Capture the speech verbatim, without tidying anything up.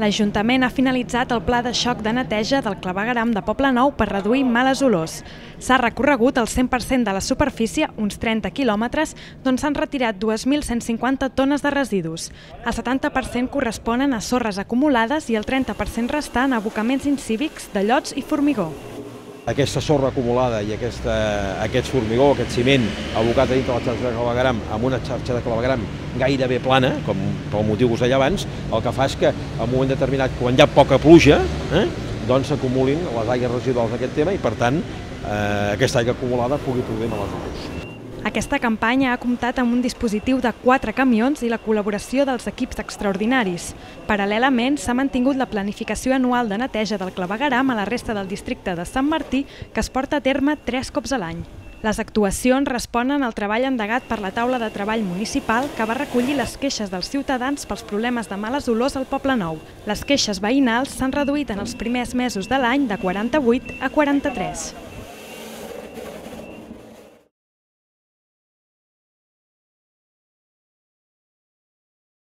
L'Ajuntament ha finalitzat el pla de xoc de neteja del clavegueram de Poblenou per reduir males olors. S'ha recorregut el cent per cent de la superfície, uns trenta quilòmetres, d'on s'han retirat dues mil cent cinquanta tones de residus. El setanta per cent corresponen a sorres acumulades i el trenta per cent restant a abocaments incívics de llots i formigó. Aquesta sorra acumulada i aquesta, aquest formigó, aquest ciment abocat a dintre la xarxa de clavegueram amb una xarxa de clavegueram gairebé plana, com pel motiu que us deia abans, el que fa és que en un moment determinat, quan hi ha poca pluja, eh, doncs s'acumulin les aigües residuals d'aquest tema i, per tant, eh, aquesta aigua acumulada pugui produir males olors. Aquesta campanya ha comptat amb un dispositiu de quatre camions i la col·laboració dels equips extraordinaris. Paral·lelament, s'ha mantingut la planificació anual de neteja del clavegueram a la resta del districte de Sant Martí, que es porta a terme tres cops a l'any. Les actuacions responen al treball endegat per la taula de treball municipal que va recollir les queixes dels ciutadans pels problemes de males olors al Poblenou. Les queixes veïnals s'han reduït en els primers mesos de l'any de quaranta-vuit a quaranta-tres.